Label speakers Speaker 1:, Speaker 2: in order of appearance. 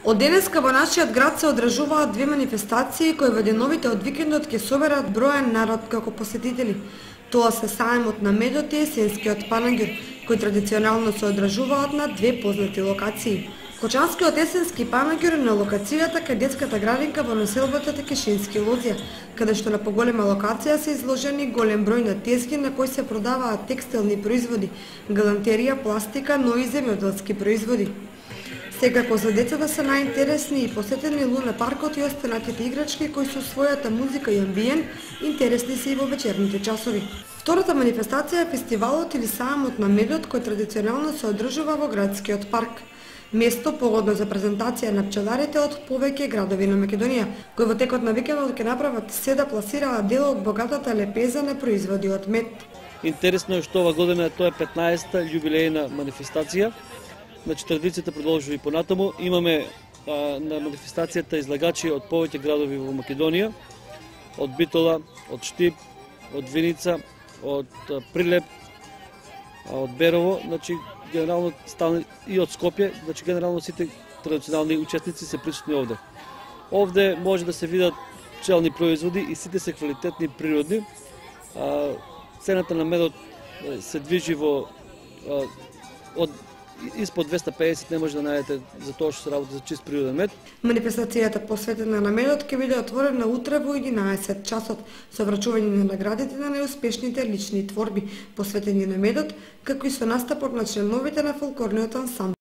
Speaker 1: Од денеска во нашиот град се одржуваат две манифестации кои во деновите од викендот ќе соберат броен народ како посетители. Тоа се сајмот на медот и есенскиот панагюр, кои традиционално се одржуваат на две познати локации. Кочанскиот есенски панагюр е на локацијата кај детската градинка во населбата Текешински Лозија, каде што на поголема локација се изложени голем број на тезги на кои се продаваат текстилни производи, галантерија, пластика, но и земјоделски производи. Секако за децата се најинтересни и посетени луна паркот и останатите играчки кои со својата музика и амбиент интересни се и во вечерните часови. Втората манифестација е фестивалот или сајмот на медот кој традиционално се одржува во градскиот парк. Место погодно за презентација на пчеларите од повеќе градови на Македонија, кои во текот на викендот ќе направат се да пласираат дел од богатата лепеза на производи од мед.
Speaker 2: Интересно е што ова година тоа е 15-та јубилејна манифестација. Значи традицијата продолжува и понатаму. Имаме на манифестацијата излагачи од повеќе градови во Македонија, од Битола, од Штип, од Виница, од Прилеп, од Берово, значи генерално и од Скопје, значи генерално сите традиционални учесници се присутни овде. Овде може да се видат пчелни производи и сите се квалитетни природни. Цената на медот се движи во од испод 250 не може да најдете за тоа што се работи за чист природен мед.
Speaker 1: Манифестацијата посветена на медот ќе биде отворена утре во 11 часот со врачување на наградите на најуспешните лични творби посветени на медот, како и со настапот на членовите на фолклорниот ансамбл.